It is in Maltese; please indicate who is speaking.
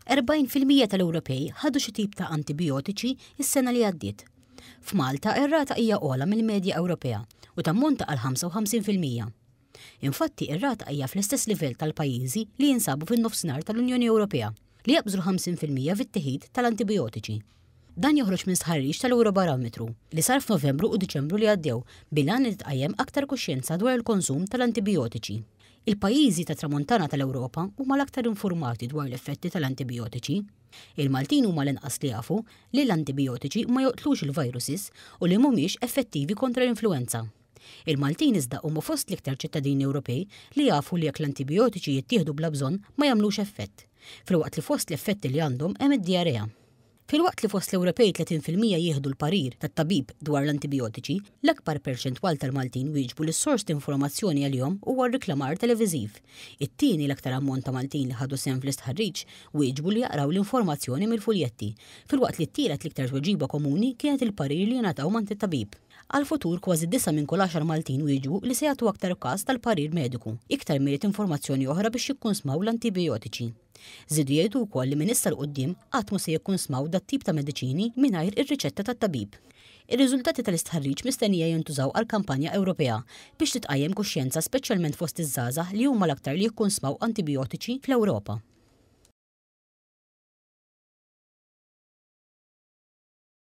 Speaker 1: 40% tal-Ewropej ħadu xi tip ta' antibijotiċi s-sena li għaddiet. F'Malta ir-rata hija ogħla mill-medja Ewropea u tammonta għal 55%. Infatti, ir-rata hija fl-istess livell tal-pajjiżi li jinsabu fin-nofsinhar tal-Unjoni Ewropea, li jaqbżu l-50% fit-teħid tal-antibijotiċi. Dan joħroġ minn stħarriġ tal-Ewrobarometru li sar f'Novembru u Diċembru li għaddew bil-għan li titqajjem aktar kuxjenza dwar il-konsum tal-antibijotiċi. Il-pajjiżi tat-Tramuntana tal-Ewropa huma l-aktar infurmati dwar l-effetti tal-antibijotiċi. Il-Maltin huma l-inqas li jafu li l-antibijotiċi ma joqtlux il-viruses u li mhumiex effettivi kontra l-influwenza. Il-Maltin iżda huma fost l-iktar ċittadini Ewropej li jafu li jekk l-antibijotiċi jittieħdu bla bżonn ma jagħmlux effett, filwaqt li fost l-effetti li għandhom hemm id-dijarea. Filwaqt li fost l-Ewropej 30% jieħdu l-parir tat-tabib dwar l-antibijotiċi, l-akbar perċentwal tal-Maltin wieġbu li s-sors t'informazzjoni għalihom huwa r-riklamar televiżiv. It-tieni l-aktar ammont ta' Maltin li ħadu sehem fl-istħarriġ wieġbu li jaqraw l-informazzjoni mill-fuljetti, filwaqt li t-tielet l-iktar tweġiba komuni kienet il-parir li jingħataw m'għand it-tabib. Għall-futur, kważi disgħa minn kull għaxar Maltin wieġbu li se jagħtu aktar każ tal-parir mediku, iktar milli informazzjoni oħra biex jikkunsmaw l-antibijotiċi. Żiedu jgħidu wkoll li minn issa 'l quddiem qatt mhu se jikkunsmaw dat-tip ta' mediċini mingħajr ir-riċetta tat-tabib. Ir-riżultati tal-istħarriġ mistennija jintużaw għal kampanja Ewropea biex titqajjem kuxjenza speċjalment fost iż-żgħażagħ li huma l-aktar li jikkunsmaw antibijotiċi fl-Ewropa.